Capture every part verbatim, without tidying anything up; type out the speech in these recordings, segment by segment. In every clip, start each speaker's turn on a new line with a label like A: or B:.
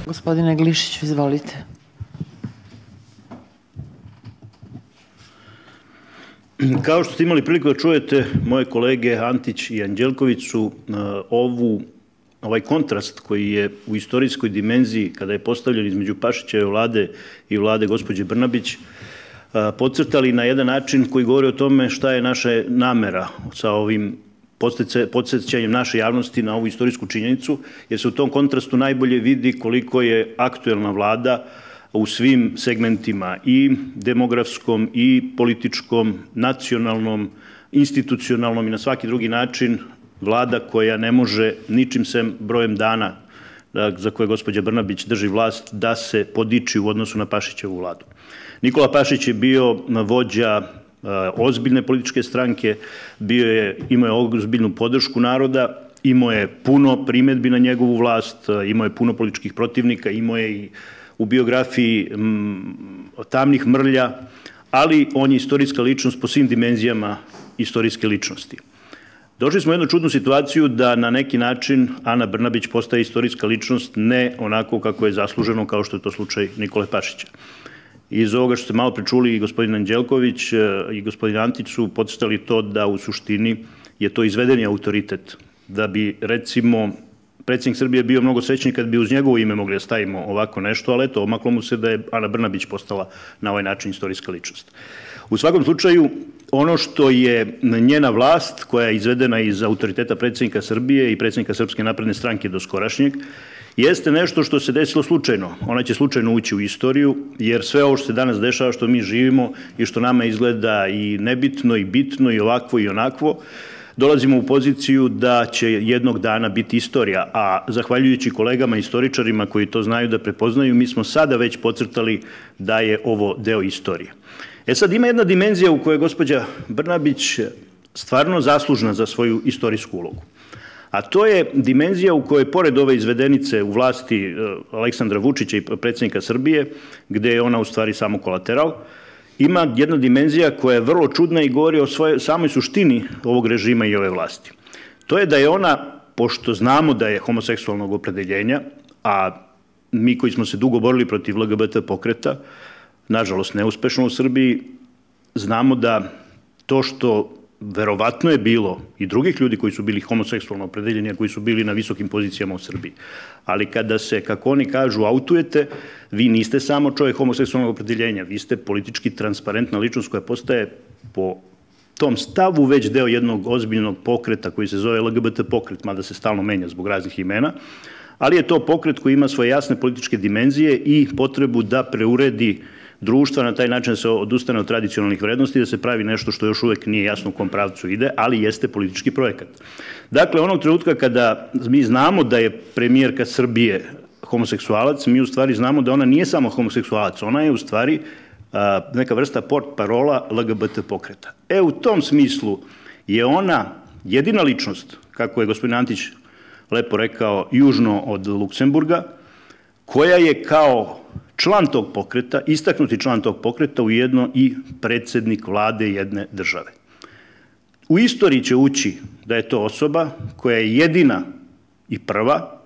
A: Gospodine Glišiću, izvolite.
B: Kao što ste imali priliku da čujete, moje kolege Antić i Anđelković su ovu, ovaj kontrast koji je u istorijskoj dimenziji, kada je postavljen između Pašićeve vlade i vlade gospođe Brnabić, podcrtali na jedan način koji govori o tome šta je naša namera sa ovim podsjećanjem naše javnosti na ovu istorijsku činjenicu, jer se u tom kontrastu najbolje vidi koliko je aktuelna vlada u svim segmentima, i demografskom, i političkom, nacionalnom, institucionalnom i na svaki drugi način, vlada koja ne može ničim sem brojem dana za koje gospođa Brnabić drži vlast da se podiči u odnosu na Pašićevu vladu. Nikola Pašić je bio vođa ozbiljne političke stranke, bio je, imao je ozbiljnu podršku naroda, imao je puno primedbi na njegovu vlast, imao je puno političkih protivnika, imao je i u biografiji tamnih mrlja, ali on je istorijska ličnost po svim dimenzijama istorijske ličnosti. Došli smo u jednu čudnu situaciju da na neki način Ana Brnabić postaje istorijska ličnost, ne onako kako je zasluženo, kao što je to slučaj Nikole Pašića. Iz ovoga što ste malo pričuli i gospodin Anđelković i gospodin Antić su podcrtali to da u suštini je to izvedeni autoritet, da bi recimo predsjednik Srbije bio mnogo srećniji kad bi uz njegovo ime mogli da stavimo ovako nešto, ali eto, omaklo mu se da je Ana Brnabić postala na ovaj način istorijska ličnost. U svakom slučaju, ono što je njena vlast, koja je izvedena iz autoriteta predsjednika Srbije i predsjednika Srpske napredne stranke do skorašnjeg, jeste nešto što se desilo slučajno. Ona će slučajno ući u istoriju, jer sve ovo što se danas dešava, što mi živimo i što nama izgleda i nebitno i bitno i ovakvo i onakvo, dolazimo u poziciju da će jednog dana biti istorija, a zahvaljujući kolegama istoričarima koji to znaju da prepoznaju, mi smo sada već podcrtali da je ovo deo istorije. E sad, ima jedna dimenzija u kojoj je gospođa Brnabić stvarno zaslužna za svoju istorijsku ulogu. A to je dimenzija u kojoj, pored ove izvedenice u vlasti Aleksandra Vučića i predsjednika Srbije, gde je ona u stvari samo kolateral, ima jedna dimenzija koja je vrlo čudna i govori o samoj suštini ovog režima i ove vlasti. To je da je ona, pošto znamo da je homoseksualnog opredeljenja, a mi koji smo se dugo borili protiv L G B T pokreta, nažalost neuspešno u Srbiji, znamo da to što verovatno je bilo i drugih ljudi koji su bili homoseksualno opredeljeni, a koji su bili na visokim pozicijama u Srbiji. Ali kada se, kako oni kažu, autujete, vi niste samo čovjek homoseksualnog opredeljenja, vi ste politički transparentna ličnost koja postaje po tom stavu već deo jednog ozbiljnog pokreta koji se zove L G B T pokret, mada se stalno menja zbog raznih imena, ali je to pokret koji ima svoje jasne političke dimenzije i potrebu da preuredi društva na taj način da se odustane od tradicionalnih vrednosti, da se pravi nešto što još uvek nije jasno u kom pravcu ide, ali jeste politički projekat. Dakle, onog trenutka kada mi znamo da je premijerka Srbije homoseksualac, mi u stvari znamo da ona nije samo homoseksualac, ona je u stvari neka vrsta portparola L G B T pokreta. E, u tom smislu je ona jedina ličnost, kako je gospodin Antić lepo rekao, južno od Luksemburga, koja je kao član tog pokreta, istaknuti član tog pokreta, ujedno i predsjednik vlade jedne države. U istoriji će ući da je to osoba koja je jedina i prva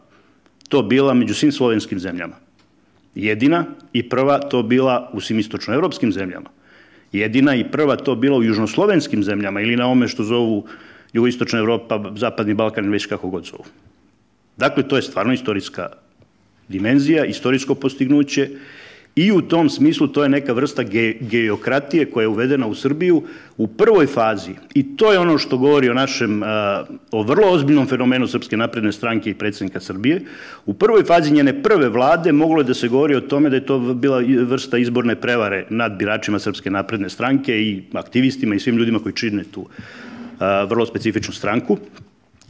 B: to bila među svim slovenskim zemljama. Jedina i prva to bila u svim istočnoevropskim zemljama. Jedina i prva to bila u južnoslovenskim zemljama ili na ome što zovu jugoistočna Evropa, zapadni Balkan, već kako god zovu. Dakle, to je stvarno istorijska dimenzija, istorijsko postignuće i u tom smislu to je neka vrsta geokratije koja je uvedena u Srbiju u prvoj fazi i to je ono što govori o našem, o vrlo ozbiljnom fenomenu Srpske napredne stranke i predsjednika Srbije. U prvoj fazi njene prve vlade moglo je da se govori o tome da je to bila vrsta izborne prevare nad biračima Srpske napredne stranke i aktivistima i svim ljudima koji čine tu vrlo specifičnu stranku.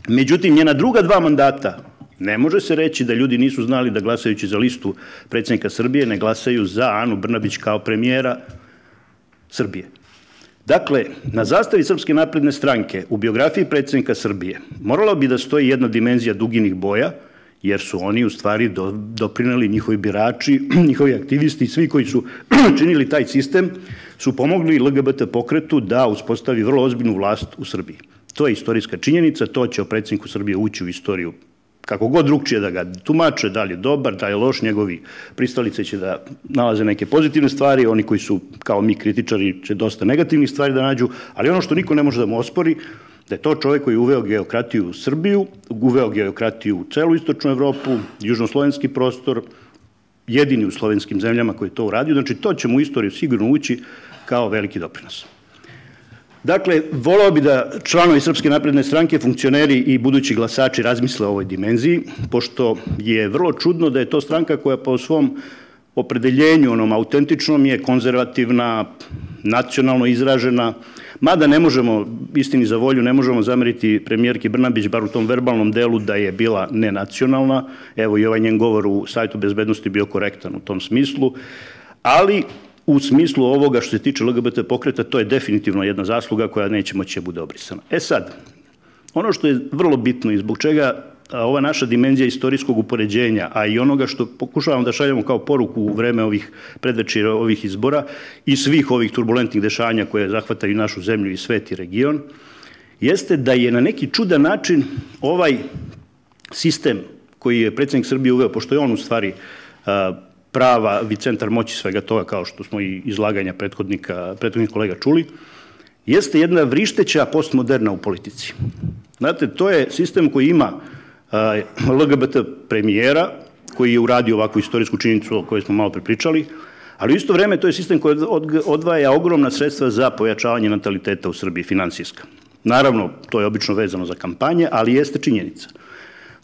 B: Međutim, njena druga dva mandata ne može se reći da ljudi nisu znali da glasajući za listu predsjednika Srbije ne glasaju za Anu Brnabić kao premijera Srbije. Dakle, na zastavi Srpske napredne stranke u biografiji predsjednika Srbije morala bi da stoji jedna dimenzija duginih boja, jer su oni u stvari doprineli, njihovi birači, njihovi aktivisti i svi koji su činili taj sistem, su pomogli L G B T pokretu da uspostavi vrlo ozbiljnu vlast u Srbiji. To je istorijska činjenica, to će o predsjedniku Srbije ući u istoriju kako god drugčije da ga tumače, da li je dobar, da li je loš, njegovi pristalice će da nalaze neke pozitivne stvari, oni koji su kao mi kritičari će dosta negativnih stvari da nađu, ali ono što niko ne može da mu ospori, da je to čovjek koji je uveo geokratiju u Srbiju, uveo geokratiju u celu istočnu Evropu, južnoslovenski prostor, jedini u slovenskim zemljama koji je to uradio, znači to će mu u istoriju sigurno ući kao veliki doprinos. Dakle, voleo bi da članovi Srpske napredne stranke, funkcioneri i budući glasači razmisle o ovoj dimenziji, pošto je vrlo čudno da je to stranka koja po svom opredeljenju, onom autentičnom, je konzervativna, nacionalno izražena, mada ne možemo, istini za volju, ne možemo zameriti premijerki Brnabić, bar u tom verbalnom delu, da je bila nenacionalna. Evo i ovaj njen govor u Savjetu bezbednosti bio korektan u tom smislu, ali u smislu ovoga što se tiče L G B T pokreta, to je definitivno jedna zasluga koja neće moći da bude obrisana. E sad, ono što je vrlo bitno i zbog čega ova naša dimenzija istorijskog upoređenja, a i onoga što pokušavamo da šaljemo kao poruku u vreme ovih predvečera, ovih izbora i svih ovih turbulentnih dešanja koje zahvataju našu zemlju i svet i region, jeste da je na neki čudan način ovaj sistem koji je predsjednik Srbije uveo, pošto je on u stvari prava vicentar moći svega toga, kao što smo i izlaganja prethodnika, prethodnih kolega čuli, jeste jedna vrišteća postmoderna u politici. Znate, to je sistem koji ima L G B T premijera, koji je uradio ovakvu istorijsku činjenicu o kojoj smo malo prepričali, ali u isto vreme to je sistem koji odvaja ogromna sredstva za pojačavanje nataliteta u Srbiji, finansijska. Naravno, to je obično vezano za kampanje, ali jeste činjenica.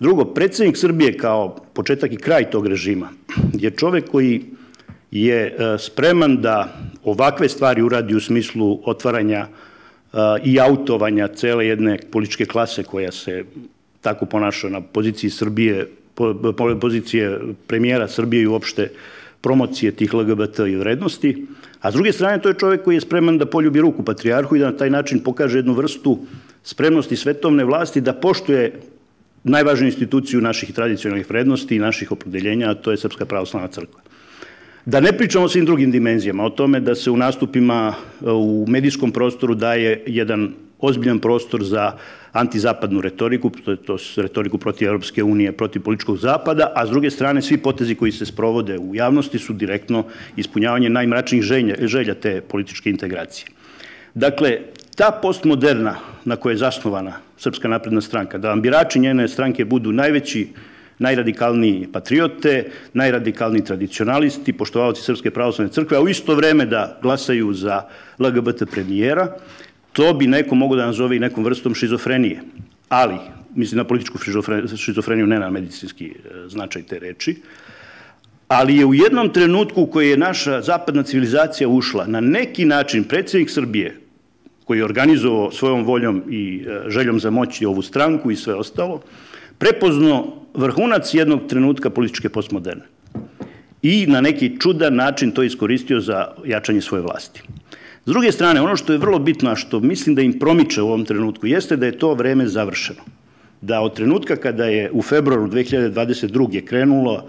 B: Drugo, predsjednik Srbije kao početak i kraj tog režima je čovek koji je spreman da ovakve stvari uradi u smislu otvaranja i autovanja cele jedne političke klase koja se tako ponaša na poziciji Srbije, pozicije premijera Srbije i uopšte promocije tih L G B T i vrednosti, a s druge strane to je čovek koji je spreman da poljubi ruku patrijarhu i da na taj način pokaže jednu vrstu spremnosti svetovne vlasti da poštuje najvažniju instituciju naših tradicionalnih vrednosti i naših opredeljenja, a to je Srpska pravoslavna crkva. Da ne pričamo o svim drugim dimenzijama, o tome da se u nastupima u medijskom prostoru daje jedan ozbiljan prostor za antizapadnu retoriku, to je retoriku protiv Europske unije, protiv političkog zapada, a s druge strane svi potezi koji se sprovode u javnosti su direktno ispunjavanje najmračnijih želja te političke integracije. Dakle, ta postmoderna na kojoj je zasnovana Srpska napredna stranka, da vam birači njene stranke budu najveći, najradikalniji patriote, najradikalniji tradicionalisti, poštovaoci Srpske pravoslavne crkve, a u isto vreme da glasaju za L G B T premijera, to bi neko mogo da nazove i nekom vrstom šizofrenije. Ali, mislim na političku šizofreniju, ne na medicinski značaj te reči, ali je u jednom trenutku u kojoj je naša zapadna civilizacija ušla, na neki način predsjednik Srbije, koji je organizovao svojom voljom i željom za moći ovu stranku i sve ostalo, prepoznao vrhunac jednog trenutka političke postmoderne i na neki čudan način to iskoristio za jačanje svoje vlasti. S druge strane, ono što je vrlo bitno, a što mislim da im promiče u ovom trenutku, jeste da je to vreme završeno. Da od trenutka kada je u februaru dve hiljade dvadeset druge krenulo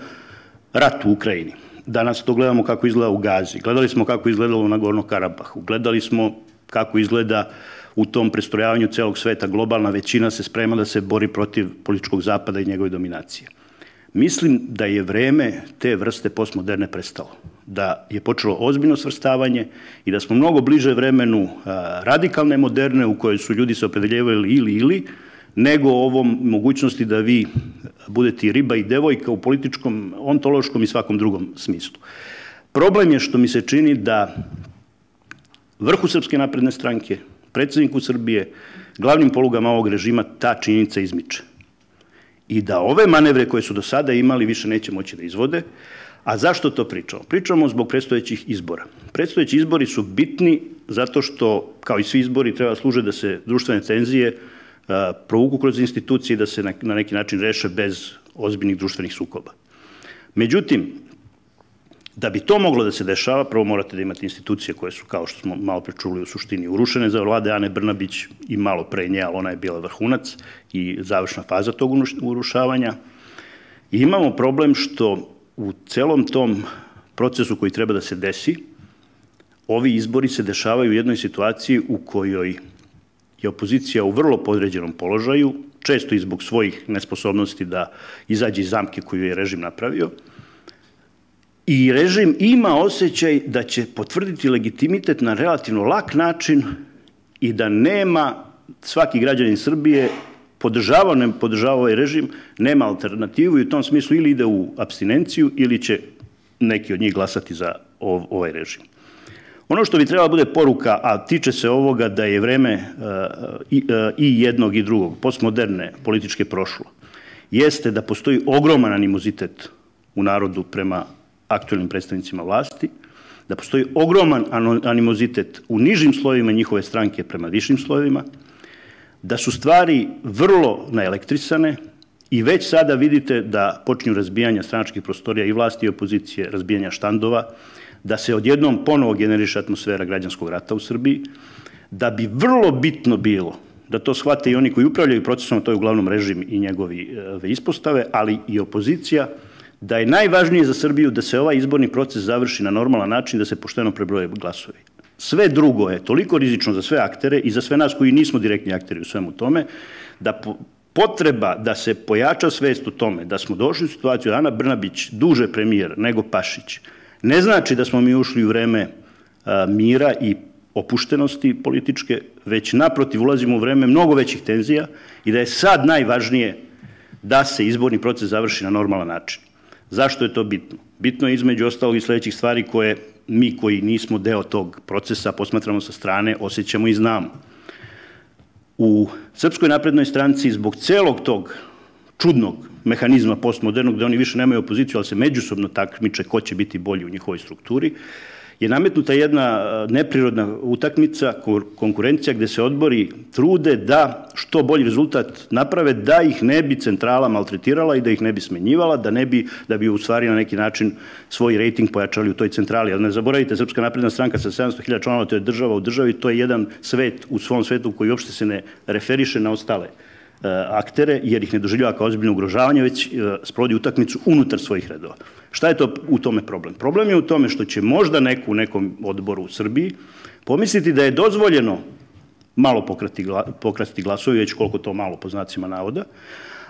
B: rat u Ukrajini, danas to gledamo kako izgleda u Gazi, gledali smo kako izgledalo na Gornom Karabahu, gledali smo kako izgleda u tom prestrojavanju celog sveta, globalna većina se sprema da se bori protiv političkog zapada i njegove dominacije. Mislim da je vreme te vrste postmoderne prestalo, da je počelo ozbiljno svrstavanje i da smo mnogo bliže vremenu radikalne moderne u kojoj su ljudi se opredeljivali ili ili, nego ovom mogućnosti da vi budete i riba i devojka u političkom, ontološkom i svakom drugom smislu. Problem je što mi se čini da vrhu Srpske napredne stranke, predsjedniku Srbije, glavnim polugama ovog režima ta činjenica izmiče. I da ove manevre koje su do sada imali više neće moći da izvode. A zašto to pričamo? Pričamo zbog predstojećih izbora. Predstojeći izbori su bitni zato što, kao i svi izbori, treba služe da se društvene tenzije provuku kroz institucije i da se na neki način reše bez ozbiljnih društvenih sukoba. Međutim, da bi to moglo da se dešava, prvo morate da imate institucije koje su, kao što smo malo prečuli, u suštini urušene za vlade Ane Brnabić i malo pre nje, ali ona je bila vrhunac i završna faza tog urušavanja. I imamo problem što u celom tom procesu koji treba da se desi, ovi izbori se dešavaju u jednoj situaciji u kojoj je opozicija u vrlo podređenom položaju, često i zbog svojih nesposobnosti da izađe iz zamke koju je režim napravio. I režim ima osjećaj da će potvrditi legitimitet na relativno lak način i da nema svaki građanin Srbije podržava, ne podržava ovaj režim, nema alternativu i u tom smislu ili ide u apstinenciju ili će neki od njih glasati za ovaj režim. Ono što bi trebala bude poruka, a tiče se ovoga da je vreme i jednog i drugog, postmoderne političke prošlo, jeste da postoji ogroman animozitet u narodu prema aktuelnim predstavnicima vlasti, da postoji ogroman animozitet u nižim slojevima njihove stranke prema višim slojevima, da su stvari vrlo naelektrisane i već sada vidite da počinju razbijanja stranačkih prostorija i vlasti i opozicije, razbijanja štandova, da se odjednom ponovo generiše atmosfera građanskog rata u Srbiji, da bi vrlo bitno bilo da to shvate i oni koji upravljaju procesom, to je uglavnom režim i njegovi ispostave, ali i opozicija, da je najvažnije za Srbiju da se ovaj izborni proces završi na normalan način, da se pošteno prebroje glasovi. Sve drugo je toliko rizično za sve aktere i za sve nas koji nismo direktni akteri u svemu tome, da potreba da se pojača svest u tome da smo došli u situaciju da Ana Brnabić duže premijer nego Pašić, ne znači da smo mi ušli u vreme mira i opuštenosti političke, već naprotiv ulazimo u vreme mnogo većih tenzija i da je sad najvažnije da se izborni proces završi na normalan način. Zašto je to bitno? Bitno je između ostalog i sledećih stvari koje mi koji nismo deo tog procesa posmatramo sa strane, osjećamo i znamo. U Srpskoj naprednoj stranci zbog celog tog čudnog mehanizma postmodernog, da oni više nemaju opoziciju, ali se međusobno takmiče ko će biti bolji u njihovoj strukturi, je nametnuta jedna neprirodna utakmica, konkurencija gde se odbori trude da što bolji rezultat naprave, da ih ne bi centrala maltretirala i da ih ne bi smenjivala, da ne bi, da bi u stvari na neki način svoj rejting pojačali u toj centrali. Ali ne zaboravite, Srpska napredna stranka sa sedamsto hiljada članova, to je država u državi, to je jedan svet u svom svetu koji uopšte se ne referiše na ostale aktere, jer ih ne doživljava kao ozbiljno ugrožavanje, već sprovodi utakmicu unutar svojih redova. Šta je to u tome problem? Problem je u tome što će možda neko u nekom odboru u Srbiji pomisliti da je dozvoljeno malo pokrasti glasovi, već koliko to malo po znacima navoda,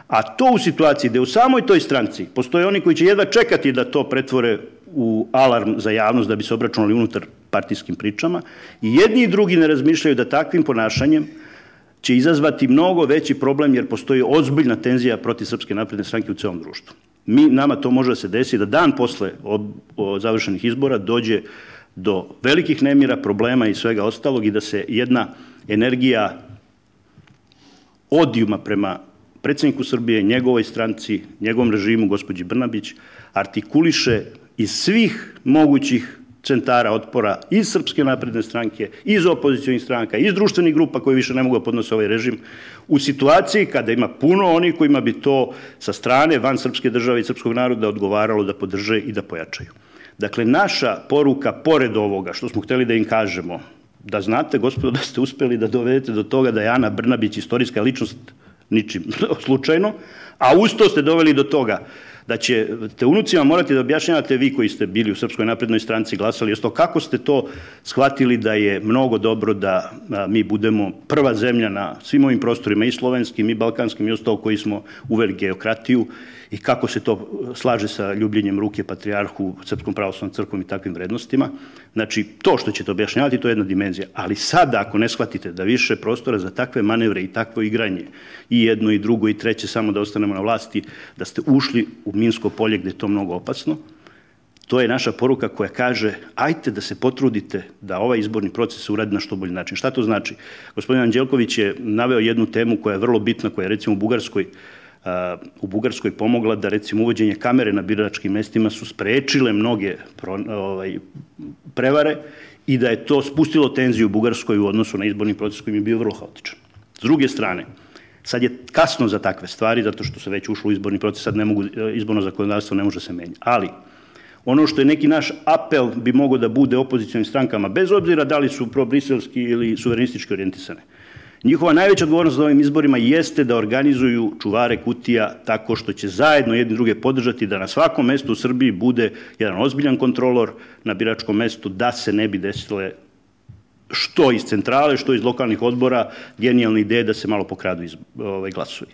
B: a to u situaciji gde u samoj toj stranci postoje oni koji će jedva čekati da to pretvore u alarm za javnost da bi se obračunali unutar partijskim pričama i jedni i drugi ne razmišljaju da takvim ponašanjem će izazvati mnogo veći problem jer postoji ozbiljna tenzija protiv Srpske napredne stranke u celom društvu. Mi, nama to može da se desi da dan posle završenih izbora dođe do velikih nemira, problema i svega ostalog i da se jedna energija odijuma prema predsjedniku Srbije, njegovoj stranci, njegovom režimu, gospođi Brnabić, artikuliše iz svih mogućih centara otpora iz Srpske napredne stranke, iz opozicionih stranaka, iz društvenih grupa koji više ne mogu da podnose ovaj režim, u situaciji kada ima puno onih kojima bi to sa strane van srpske države i srpskog naroda odgovaralo da podrže i da pojačaju. Dakle, naša poruka, pored ovoga što smo hteli da im kažemo, da znate, gospodo, da ste uspeli da dovedete do toga da je Ana Brnabić istorijska ličnost ničim slučajno, a usto ste doveli do toga da ćete unucima morati da objašnjavate vi koji ste bili u Srpskoj naprednoj stranci glasali, isto kako ste to shvatili da je mnogo dobro da mi budemo prva zemlja na svim ovim prostorima i slovenskim i balkanskim i ostalo koji smo uveli geokratiju i kako se to slaže sa ljubljenjem ruke patrijarhu, Srpskom pravoslavnom crkvom i takvim vrednostima. Znači, to što ćete objašnjavati, to je jedna dimenzija. Ali sada, ako ne shvatite da više prostora za takve manevre i takvo igranje, i jedno i drugo i treće, samo da ostanemo na vlasti, da ste ušli u minsko polje gde je to mnogo opasno, to je naša poruka koja kaže ajte da se potrudite da ovaj izborni proces uradi na što bolji način. Šta to znači? Gospodin Anđelković je naveo jednu temu koja je vrlo bitna, koja je recimo u Bugarskoj u Bugarskoj pomogla da recimo uvođenje kamere na biračkim mestima su sprečile mnoge prevare i da je to spustilo tenziju u Bugarskoj u odnosu na izborni proces koji je bio vrlo haotičan. S druge strane, sad je kasno za takve stvari, zato što se već ušlo u izborni proces, sad ne mogu, izborno zakonodavstvo ne može se menjati. Ali, ono što je neki naš apel bi mogao da bude opozicionim strankama, bez obzira da li su probriselski ili suverenistički orijentisane, njihova najveća odgovornost na ovim izborima jeste da organizuju čuvare kutija tako što će zajedno jedni druge podržati da na svakom mestu u Srbiji bude jedan ozbiljan kontrolor na biračkom mestu, da se ne bi desile što iz centrale, što iz lokalnih odbora, genijalne ideje da se malo pokradu iz, ovaj, glasovi.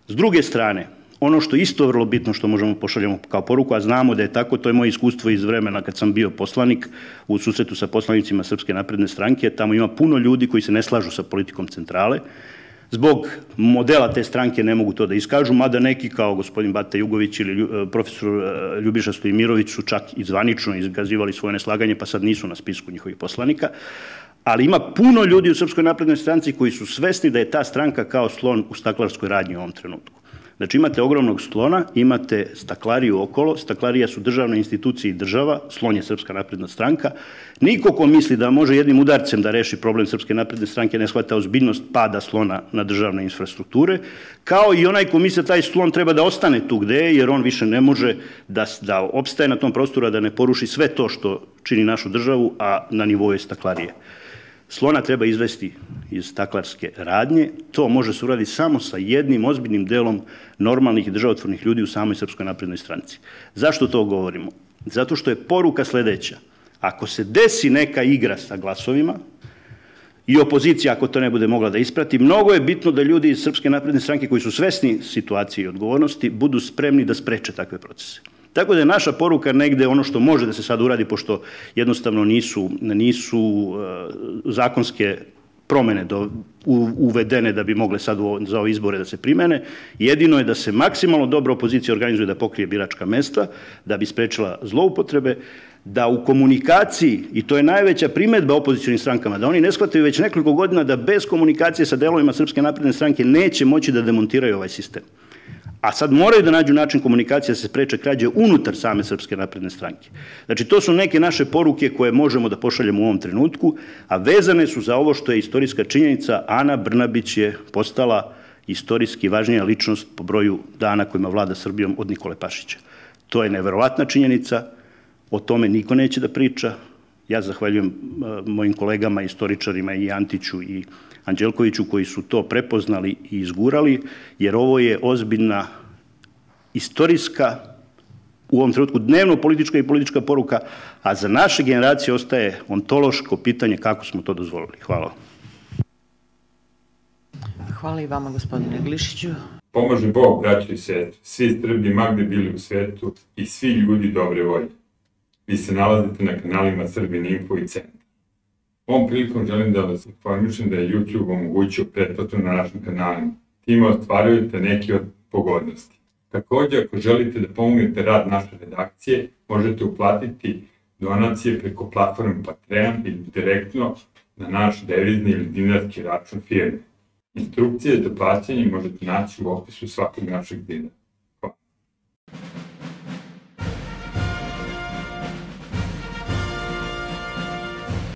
B: S druge strane, ono što je isto vrlo bitno što možemo pošaljamo kao poruku, a znamo da je tako, to je moje iskustvo iz vremena kad sam bio poslanik u susretu sa poslanicima Srpske napredne stranke, tamo ima puno ljudi koji se ne slažu sa politikom centrale, zbog modela te stranke ne mogu to da iskažu, mada neki kao gospodin Bata Jugović ili profesor Ljubiša Stojimirović su čak i zvanično izgazivali svoje neslaganje, pa sad nisu na spisku njihovih poslanika, ali ima puno ljudi u Srpskoj naprednoj stranci koji su svesni da je ta stranka kao slon u staklarskoj radnji u ovom trenutku. Znači imate ogromnog slona, imate staklariju okolo, staklarija su državne institucije i država, slon je Srpska napredna stranka. Niko ko misli da može jednim udarcem da reši problem Srpske napredne stranke ne shvata ozbiljnost pada slona na državne infrastrukture, kao i onaj ko misli da taj slon treba da ostane tu gde je, jer on više ne može da, da opstaje na tom prostoru, a da ne poruši sve to što čini našu državu, a na nivou je staklarije. Slona treba izvesti iz staklarske radnje, to može se uraditi samo sa jednim ozbiljnim delom normalnih i državotvornih ljudi u samoj Srpskoj naprednoj stranci. Zašto to govorimo? Zato što je poruka sledeća. Ako se desi neka igra sa glasovima i opozicija, ako to ne bude mogla da isprati, mnogo je bitno da ljudi iz Srpske napredne stranke koji su svesni situacije i odgovornosti budu spremni da spreče takve procese. Tako da je naša poruka negde ono što može da se sad uradi, pošto jednostavno nisu, nisu uh, zakonske promene do, u, uvedene da bi mogle sad u, za ove izbore da se primene. Jedino je da se maksimalno dobro opozicija organizuje da pokrije biračka mesta, da bi sprečila zloupotrebe, da u komunikaciji, i to je najveća primedba opozicionim strankama, da oni ne shvataju već nekoliko godina da bez komunikacije sa delovima Srpske napredne stranke neće moći da demontiraju ovaj sistem. A sad moraju da nađu način komunikacije da se spreče krađe unutar same Srpske napredne stranke. Znači, to su neke naše poruke koje možemo da pošaljemo u ovom trenutku, a vezane su za ovo što je istorijska činjenica. Ana Brnabić je postala istorijski važnija ličnost po broju dana kojima vlada Srbijom od Nikole Pašića. To je neverovatna činjenica, o tome niko neće da priča. Ja zahvaljujem mojim kolegama, istoričarima i Antiću i Anđelkoviću koji su to prepoznali i izgurali, jer ovo je ozbiljna istorijska, u ovom trenutku dnevno politička i politička poruka, a za naše generacije ostaje ontološko pitanje kako smo to dozvolili. Hvala.
A: Hvala i vama, gospodine Glišiću.
C: Pomože Bog, braćo i sestre, svi Srbi magde bili u svetu i svi ljudi dobre volje. Vi se nalazite na kanalima Srbin Info i Centar. Ovom prilikom želim da vas informišem da je YouTube omogućio pretplatu na našim kanalima. Time ostvarujete neke od pogodnosti. Također, ako želite da pomognete rad naše redakcije, možete uplatiti donacije preko platforme Patreon ili direktno na naš devizni ili dinarski račun firme. Instrukcije za plaćanje možete naći u opisu svakog našeg videa.